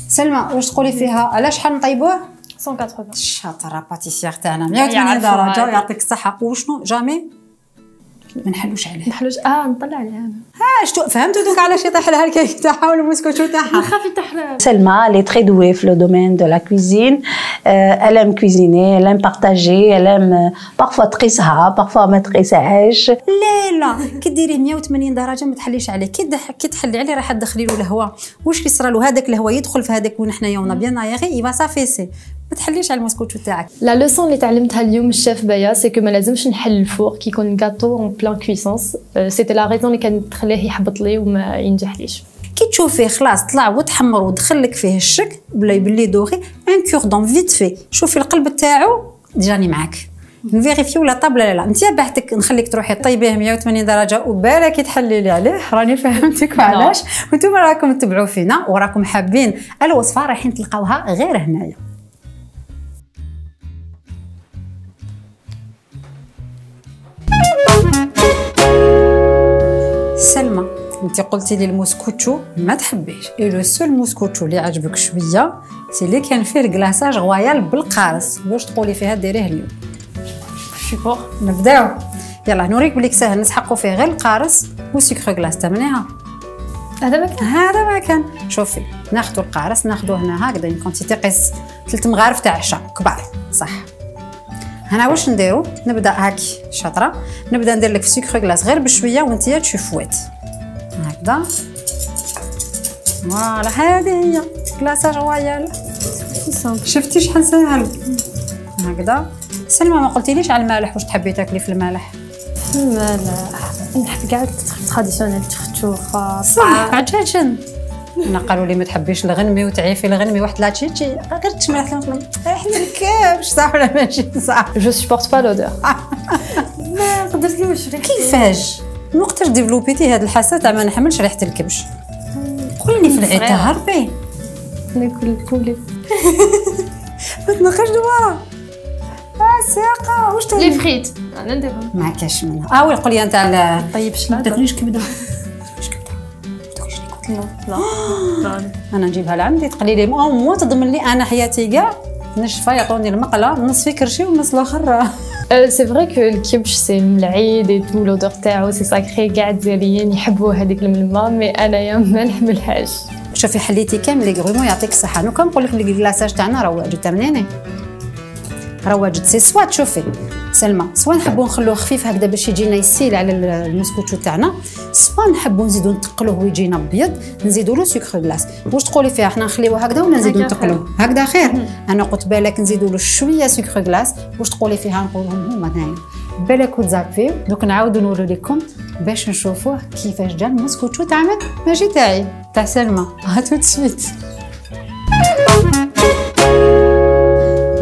سلمى واش تقولي فيها؟ على شحال نطيبوه؟ 180. شاطره باتيسيير تاعنا 180 درجه يعطيك الصحه. وشنو جامي ما نحلوش عليه نحلوش نطلع عليها انا. شتو فهمتوا دوك علاش يطيح لها الكيك تاعها والمسكوتو تاعها. نخاف يطيح. Selma, elle est très douée dans le domaine de la cuisine. Elle aime cuisiner, elle aime partager, elle aime parfois تقيسها parfois ما تقيسهاش. لا كي ديريه 180 درجه ما تحليش عليه. كي تحلي عليه راح تدخلي له الهواء. واش كي صرا له هذاك الهواء يدخل في هذاك وين حنايا ونا بيان نايغي يبا صافي ما تحليش على المسكوتو تاعك. لا لوسون اللي تعلمتها اليوم الشيف بايا سي كو ما لازمش نحل الفور كي يكون غاتو اون بلان كويسونس. سيتي لا ريزون اللي كانت تخليه يحبط لي وما ينجحليش. كي تشوفيه خلاص طلع وتحمر ودخلك فيه الشك بلا يبلي دوغي ان كوردون فيت في. شوفي القلب تاعو جاني معاك نفيريفيو لا طابله لا لا. انت بعتك نخليك تروحي طيبيه 180 درجه وبالك تحلي لي عليه. راني فهمتك وعلاش وانتم راكم تتبعوا فينا وراكم حابين الوصفه رايحين تلقاوها غير هنايا. سلمى انت قلتي لي الموسكوتشو ما تحبيش اي لو سول موسكوتشو اللي عجبك شويه سي اللي كان فيه الكلاصاج غويال بالقارص. واش تقولي فيها ديريه اليوم؟ شوفوا نبداو. يلا نوريك بليك ساهل نسحقوا فيه غير القارص وسكر غلاس تمنيها. هذا ما كان شوفي ناخذوا القارص ناخذوه هنا هكذا اون كونتيتي قيس 3 مغارف تاع عشاء كبار صح. هنا واش نديرو نبدا هاكي شاطره نبدا ندير لك في سكر غلاس غير بشويه وانت تشوفوات هكذا. فوالا هذه هي كلاصاج رويال. شفتي شحال ساهل هكذا. سلمى ما قلتيليش على المالح واش تحبي تاكلي في المالح؟ المالح نحب كاع تراديسيونيل تختو صح عجاجن. انا قالوا لي ما تحبيش الغنمي وتعيفي الغنمي واحد لا تشي غير تشملح ريحه الكبش صح ولا ماشي صح؟ جو سبورت با لودور. ما قدرتلوش. كيفاش وقتاش ديفلوبيتي هاد الحاسه تاع ما نحملش ريحه الكبش؟ قولي في العيد هربي ناكل البولي ما تنخرج دوارا. ساقه واش لي فريت انا نديرهم ما كاش منها. وي قولي انت على طيب شنو تاكليش كبده؟ لا انا نجيبها لعندي تقلي لي مو تضمن لي انا حياتي كاع نشفى يعطوني المقله نص في كرشي والنص الاخر. سي فري كو الكبش سي العيد اي تو لودور تاعو سي ساكري كاع الجزائريين يحبوا هذيك الملمه مي انايا ما نحملهاش. شوفي حليتي كامل لي غرومون يعطيك الصحه. نو كنقول لك لي كلاصاج تاعنا راه واجد تمنيني راه واجد سي سوا تشوفي سلمى سوا نحبوا نخلوه خفيف هكذا باش يجينا يسيل على المسكوتشو تاعنا سوا نحبوا نزيدوا نتقلوه ويجينا ابيض نزيدوا له سكر غلاس. واش تقولي فيها حنا نخليوه هكذا ولا نزيدوا نتقلوه هكذا خير؟ انا قلت بالك نزيدوا له شويه سكر غلاس. واش تقولي فيها نقولهم هما هنايا بالك وتزابيو. دوك نعاودوا نوري لكم باش نشوفوه كيفاش جا المسكوتشو تاعنا ماشي تاعي تاع سلمى. هاتو تسويت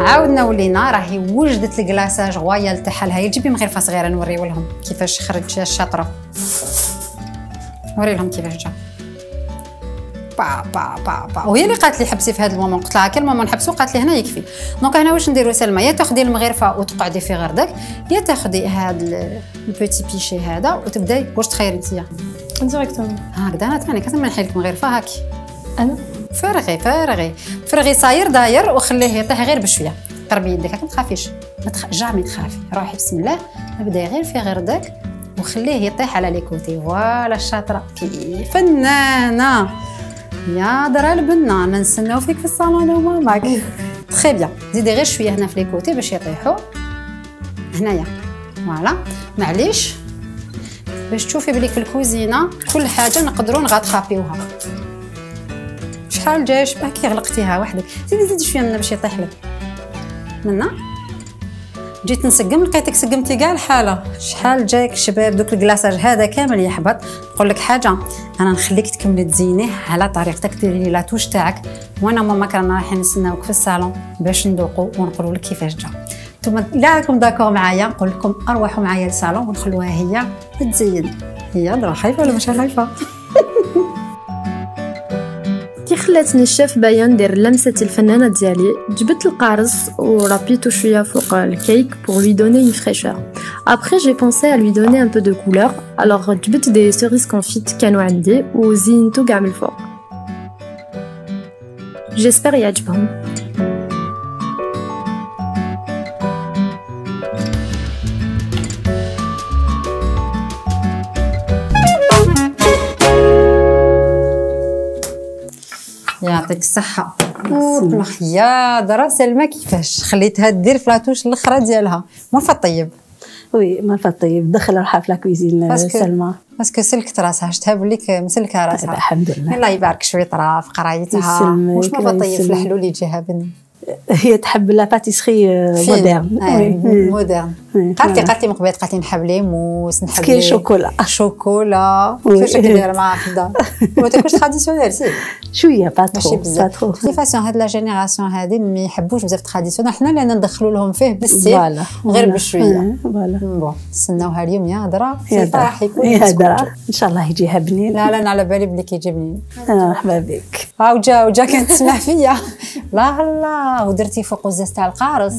عاودنا ولينا راهي وجدت الكلاصاج غويال تاعها. لها جيبي مغرفه صغيره نوريو لهم كيفاش خرج الشاطره. نوري لهم كيفاش جا با وهي اللي قالت لي حبسي في هذا المومون. قلت لها كل مومون نحبسو قالت لي هنا يكفي. دونك هنا واش نديرو سلمى يا تاخدي المغرفه وتقعدي في غردك يا تاخدي هذا البوتي بيشي هذا وتبداي. واش تخيري نتيا؟ ديريكتومون هكذا انا ثاني كتما نحيل لك مغرفه هاكي انا فرغي صاير داير وخليه يطيح غير بشويه. قربي يدك ما تخافيش جامي تخافي. روحي بسم الله ابداي غير في غردك وخليه يطيح على لي كوتي. فوالا الشاطره كي فنانه يا درا البنانه نستناو فيك في الصالون انا وماماك. تري بيان زيدي غير شويه هنا في لي كوتي باش يطيحوا هنايا. فوالا معليش باش تشوفي بليك في الكوزينه كل حاجه نقدروا نغاتخابيوها. شحال جاي شبه كي غلقتيها وحدك زيدي شويه منها باش يطيح لك منا. جيت نسقم لقيتك سقمتي كاع الحاله. شحال جايك شباب دوك الكلاصاج هذا كامل يحبط. نقول لك حاجه انا نخليك تكملي تزينيه على طريقتك ديري لي لاتوش تاعك وانا ماما رانا رايحين نستناوك في الصالون باش ندوقوا ونقولوا لك كيفاش جا. نتوما الا راكم داكور معايا نقول لكم اروحوا معايا للصالون ونخلوها هي تزين. هي درا خايفه ولا مش خايفه؟ كي خلاتني الشيف بايا ندير لمسة الفنانة ديالي جبت القارص ورابيتو شوية فوق الكيك pour lui donner une fraîcheur. Après j'ai pensé à lui donner un peu de couleur. Alors جبت des cerises confites كانوا عندي وزينتو كاع من الفوق. J'espère يعجبهم. يعطيك الصحه. يا درا سلمى كيفاش خليتها دير فلاتوش الاخرى ديالها مرفا طيب. وي مرفا طيب دخل روحها في لاكويزين سلمى باسكو سلكت راسها شفتها بليك مسلكه راسها. الحمد لله الله يبارك شويه طرا في قرايتها. واش مرفا طيب في الحلول اللي يجيها بني؟ هي تحب لا باتيسري مودرن. مودرن. قالت لي من قبل قالت لي نحب لي موس نحب لي شوكولا كيفاش كدير معاها في الدار ما تاكلش تراديسيونيل سي شويه با ترو كيفاش هاد لا جينيراسيون هادي ما يحبوش بزاف تراديسيونيل حنا اللي ندخلوا لهم فيه بالسيف غير بشويه. بون نستناوها اليوم يا هضره في فرح يكون يا هضره ان شاء الله يجيها بنين. لا انا على بالي بلي كيجي بنين. مرحبا بك. وجا كانت تسمع فيا لا ودرتي فوق وزاز تاع القارص.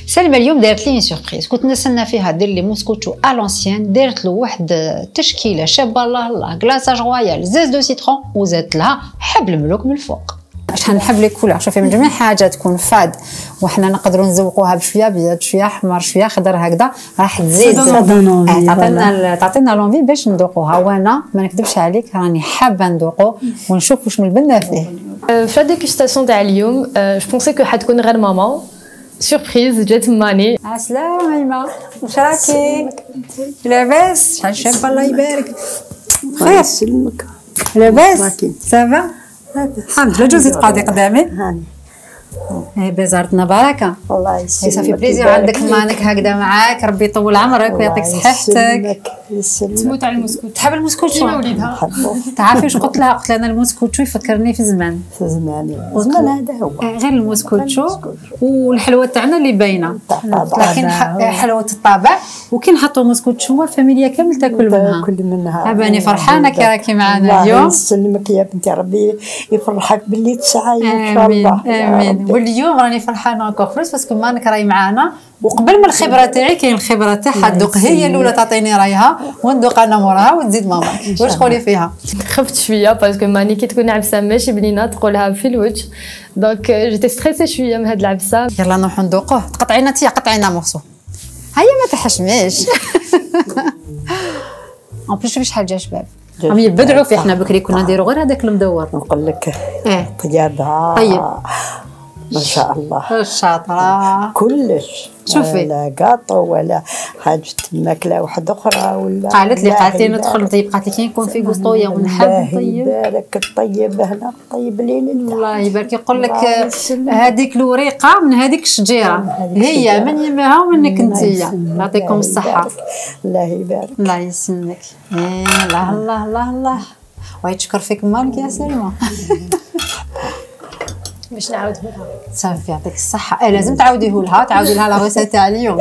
سلمى اليوم دارت لي سوربريز كنت نستنى فيها دير لي موسكوتشو الونسيان. دارت له واحد التشكيله شابه الله كلاصاج رويال زاز دو سيترون وزادت لها حبل ملوك من الفوق. شحال نحب لي كولور شوفي من جميع حاجه تكون فاد وحنا نقدروا نزوقوها بشويه ابيض شويه احمر شويه خضر هكذا راح تزيد تعطينا لونفي باش ندوقوها. وانا ما نكذبش عليك راني حابه ندوقو ونشوف واش من البنه فيه. في الديكوستاسيون تاع اليوم جو بونسي كو حتكون غير ماما سوربريز جات ماني. عسلامة ايما واش راكي لاباس؟ شحال شابه الله يبارك. الله يسلمك لاباس سافا الحمد لله. جوزي تقعدي قدامي بزارتنا بركه. الله يسلمك صافي بليزير عندك مانك هكذا معاك ربي يطول عمرك ويعطيك صحتك. تموت على المسكوت. تحب المسكوتشو؟ انا وليدها تعرفي واش قلت لها؟ قلت لها انا المسكوتشو يفكرني في زمان زمان هذا هو غير المسكوتشو والحلوه تاعنا اللي باينه لكن حلوه الطابع وكي نحطوا مسكوتشو الفاميليا كامل تاكل منها. عباني فرحانه كي راكي معنا اليوم. الله يسلمك يا بنتي ربي يفرحك باللي تسعي ان شاء الله. امين. واليوم راني فرحانه انكور بلوس باسكو مانك راهي معانا وقبل من الخبره تاعي كاين الخبره تاعها تذوق هي الاولى تعطيني رايها وندوق انا موراها وتزيد ماما. واش تقولي فيها؟ خفت شويه باسكو ماني كي تكون عبسه ماشي بنينه تقولها في الوجه دونك جيتي ستريسي شويه من هاد العبسه. يلا نروحو ندوقوه. تقطعينا تيا قطعينا مورسو هيا ما تحشميش. اون بليس شوفي شحال جا شباب راهم يبدعوا فيه. حنا بكري كنا نديرو غير هذاك المدور. نقول لك طيابها طيب ما شاء الله شاطره كلش. شوفي لا قاطو ولا حاجه ماكله واحده اخرى ولا. قالت لي ندخل نطيب قالت لي كي نكون في قسطويه ونحب نطيب. بارك الطيب هنا طيب ليل الله يبارك. يقول لك هذيك الوريقه من هذيك الشجيره هي من يمها ومنك انتيا. يعطيكم الصحه. الله يبارك. الله يسلمك. الله الله الله الله ويتشكر فيك مالك يا سلمى. باش نعاودها لها صافي يعطيك الصحه. لازم تعاوديه لها تعاودي لها لا غوسه تاع اليوم.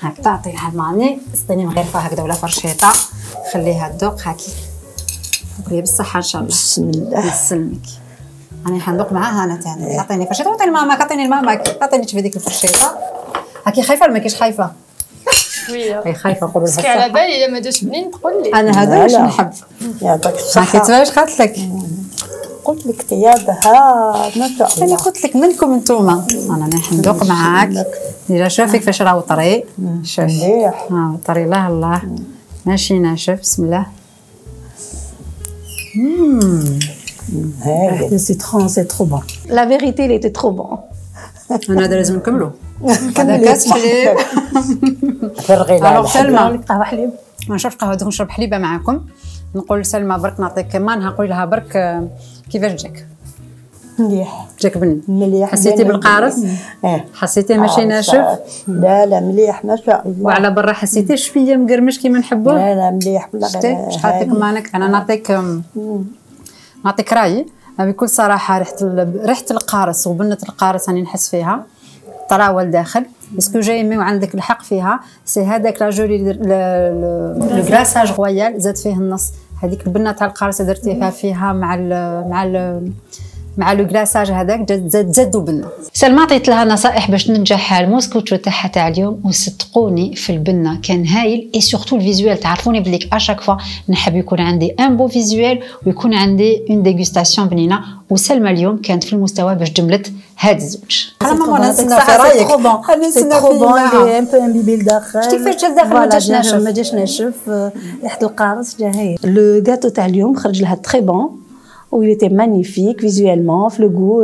هاك تعطيها الماني استني مغرفه هكذا ولا فرشيطه خليها تذوق هاكي وكلي بالصحه ان شاء الله. بسم الله يسلمك. راني حندوق معاها انا تاني. عطيني فرشيطه وعطيني لماماك عطيني لماماك عطيني تشوفي ديك الفرشيطه هاكي. خايفه ولا ما كاينش خايفه؟ شويه هي خايفه نقول لها. باسكو على بالي الا ما جاش بنين تقول لي انا هذا واش نحب. يعطيك الصحه. هاكي تبان واش قالت لك؟ قلت لك طيابها ما شاء الله. انا قلت لك منكم انتوما. انا حندوق معاك ديجا. شوفي كيفاش راهو طري. شوفي مليح طري الله ماشي ناشف. بسم الله. هاي Le citron, c'est trop bon. La vérité, il était trop bon. انا هذا لازم نكملو. هذا كاس حليب. فرغي لها الوغ سلمى قهوة حليب. ما نشربش قهوه دوك نشرب حليبه معاكم. نقول لسلمى برك نعطيك كمان نقول لها برك كيفاش جاك؟ مليح جاك بني؟ مليح. حسيتي بالقارص؟ حسيتي ماشي ناشف؟ لا مليح ما شاء الله. وعلى برا حسيتي شويه مقرمش كيما نحبوه؟ لا مليح والله. شتي شحال عطيك مانك. انا نعطيك رايي بكل صراحه. ريحه القارص وبنه القارص راني نحس فيها طراوه لداخل باسكو جاي مي وعندك الحق فيها. سي هذاك لا جولي لو كلاصاج رويال زاد فيه النص. هذيك البنه تاع القارصه درتيها فيها مع لو كلاصاج هذاك زادوا بنه. سلمى عطيت لها نصائح باش ننجح الموسكوتشو تاعها تاع اليوم وصدقوني في البنه كان هايل. اي سورتو الفيزوال تعرفوني بليك اشاك فوا نحب يكون عندي ان بو فيزوال ويكون عندي اون ديغوستاسيون بنينه. وسلمى اليوم كانت في المستوى باش جملت هاد الزوج. انا ماما نستنى في رايك. سي ترو بون لي ان بو امبيبي لداخل. شتي كيفاش جا لداخل ما جاش ناشف؟ ما جاش ناشف. ريحه القارص جا هايل. لو غاتو تاع اليوم خرج لها تري بون où il était magnifique visuellement, le goût,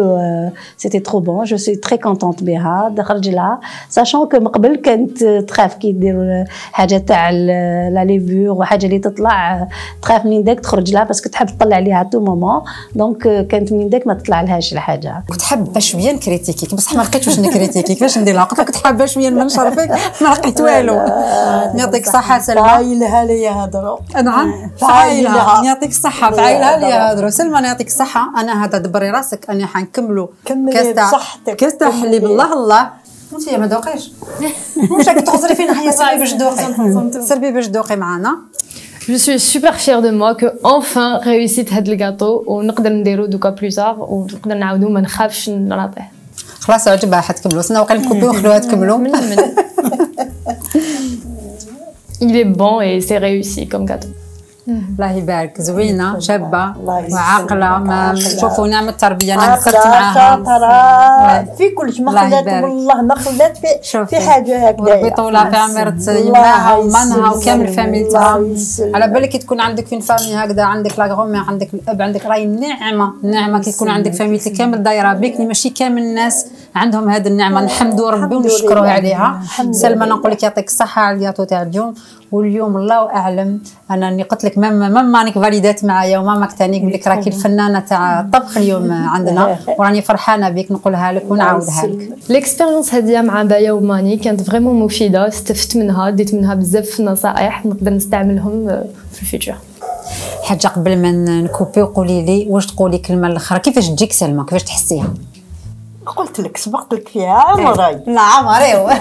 c'était trop bon. Je suis très contente بها خرج لها sachant que قبل كانت تخاف كي يديروا حاجه تاع لا ليفور وحاجه اللي تطلع تخاف من داك تخرج لها باسكو تحب تطلع عليها تو مومون دونك كانت من داك ما تطلع لهاش الحاجه. كنت حابه شويه نكريتيكيك بصح ما لقيتش واش نكريتيكيك فاش ندير لها قلت لك كنت حابه شويه ننشر فيك ما لقيت والو. يعطيك الصحه سلمى. فايلها لي يهضروا. نعم فايلها يعطيك الصحه فايلها لي يهضروا. سلمى يعطيك الصحه. انا هذا دبري راسك اني حنكملوا كاس تاع حليب الله الله. وانت ما دوقيش واش راكي تخزري فينا حيا سلبي باش دوقي سلبي باش دوقي معنا. Je suis super fière de moi que enfin réussite هاد الكاطو ونقدر نديرو دوكا بلوزار ونقدر نعاودو ما نخافش نعطيه. خلاص عجبها حتكملوا سنا وقال نكوبيو ونخلوها تكملوا. Il est bon et c'est réussi comme gâteau. الله يبارك زوينه شابه وعاقله ما شوفوا نعمه التربيه انا كثرت معاها في كلش ما خلات والله ما خلات في حاجه هكذا. ربي يطولها في عمر يماها ومنها وكامل فاميلتها. على بالك كي تكون عندك في فامي هكذا عندك لا غرومي عندك الاب عندك راهي نعمه كي تكون عندك فاميلتي كامل دايره بك. ماشي كامل الناس عندهم هذه النعمه نحمدوا ربي ونشكروه عليها. سلمى نقول لك يعطيك الصحه على الياتو تاع اليوم. واليوم الله اعلم انا اني قلت لك ماما رانيك فاليدات معايا وماما ثاني قلت لك راكي الفنانه تاع الطبخ اليوم عندنا وراني فرحانه بك نقولها لك ونعاودها لك. ليكسبيريونس هذه مع بايا وماني كانت فريمون مفيده استفدت منها ديت منها بزاف نصائح نقدر نستعملهم في الفيتشر. حاجه قبل ما نكوبي وقولي لي واش تقولي كلمه الاخرى كيفاش تجيك سلمى كيفاش تحسيها؟ قلت لك سبقت لك فيها عمري. لا عمري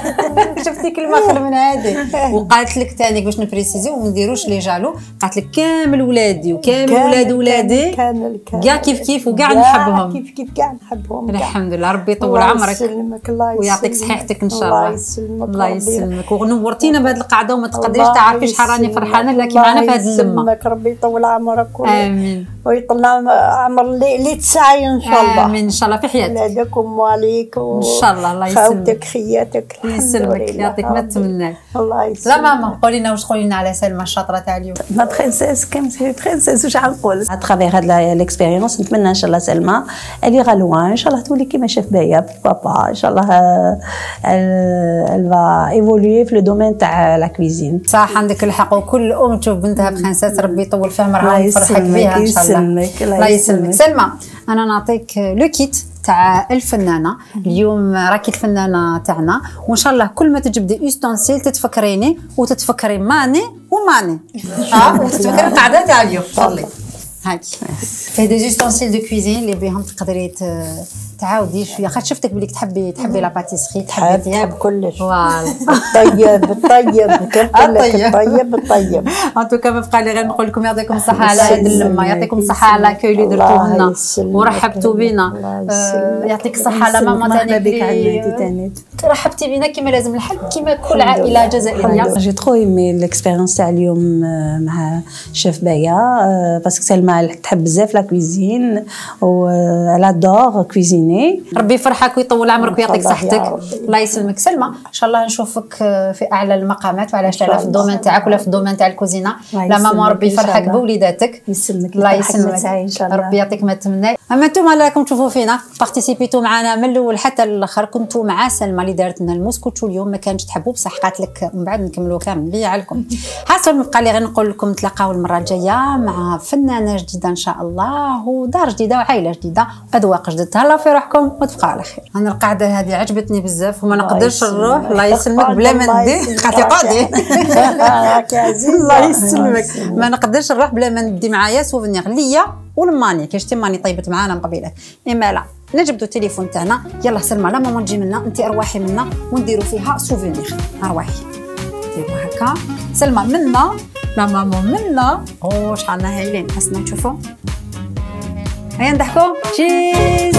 شفتي كلمه اخر من هذه. وقالت لك ثاني باش نبريسيزي وما نديروش لي جالو. قالت لك كامل ولادي وكامل ولاد ولادي كاع كيف وكاع نحبهم كيف كاع نحبهم. الحمد لله ربي يطول عمرك ويعطيك صحتك ان شاء الله. الله يسلمك ونورتينا بهذه القعده وما تقدريش تعرفي شحال راني فرحانه لك معنا في هذه اللمه. ربي يطول عمرك امين ويطلع عمر اللي تسعي ان شاء الله. امين ان شاء الله في حياتك ولادك وعليك ان شاء الله. الله يسلمك خوتك خياتك يسلمك يعطيك ما تمنى. الله يسلمك. لا ماما قولي لنا واش تقولي لنا على سلمى الشاطره تاع اليوم. ما برينسيس كم سي برينسيس واش غنقول à travers هاد ليكسبيريونس نتمنى ان شاء الله سلمى اللي غالوان ان شاء الله تولي كيما شاف بايا بابا ان شاء الله elle va évoluer في لو دومين تاع لا كويزين. صح عندك الحق وكل ام تشوف بنتها بخنسات ربي يطول في عمرها ويفرحك بها ان شاء الله. الله يسلمك. سلمى انا نعطيك لو كيت تاع الفنانه اليوم راكي الفنانه تاعنا وان شاء الله كل ما تجبدي استونسيل تتفكريني وتتفكري ماني وتتفكري القعده تاع اليوم. تفضلي هاكي في دي استونسيل دو كويزين اللي بهم تقدري تعاودي شويه خاطر شفتك بليك تحبي لا باتيسري تحبي تحب كلش فوالا الطيب ان توكا ما بقى لي غير نقول لكم يعطيكم الصحه على هذه اللمه. يعطيكم الصحه على لاكوي اللي درتوه لنا ورحبتوا بينا. يعطيك الصحه على ماما ثاني رحبتي بينا كما لازم الحال كما كل عائله جزائريه. جي ترو ايمي ليكسبيريونس تاع اليوم مع شيف بايا باسكو سلمى تحب بزاف لا كويزين و لادور كويزين. ربي يفرحك ويطول عمرك ويعطيك صحتك. الله يسلمك. سلمى ان شاء الله نشوفك في اعلى المقامات وعلاش لا في الدومين تاعك ولا في الدومين تاع الكوزينه. لا ماما ربي يفرحك بوليداتك. يسلمك. الله يسلمك ربي يعطيك ما تمنى. اما انتم راكم تشوفوا فينا بارتيسيبيتو معنا من الاول حتى الاخر. كنتوا مع سلمى اللي دارت لنا الموسكوتشو اليوم ما كانش تحبوا بصح قالت لك من بعد نكملوا كامل بيا عليكم. حاصل مبقى لي غير نقول لكم تلاقاو المره الجايه مع فنانه جديده ان شاء الله ودار جديده وعائله جديده واذواق جديده. تهلاو في روحكم وتبقى على خير. انا القعده هذه عجبتني بزاف وما نقدرش نروح. الله يسلمك بلا ما ندي خاطي قعدي الله يسلمك ما نقدرش نروح بلا ما ندي معايا سوفينير ليا والماني كي شتي ماني طيبت معانا من قبيله. اما لا نجبدوا التليفون تاعنا يلا سلمى لا ماما تجي منا انت ارواحي منا ونديروا فيها سوفينير ارواحي ديروا هكا. سلمى منا لا ماما منا شحالنا هايلين حسنا تشوفوا هيا نضحكوا تشيز.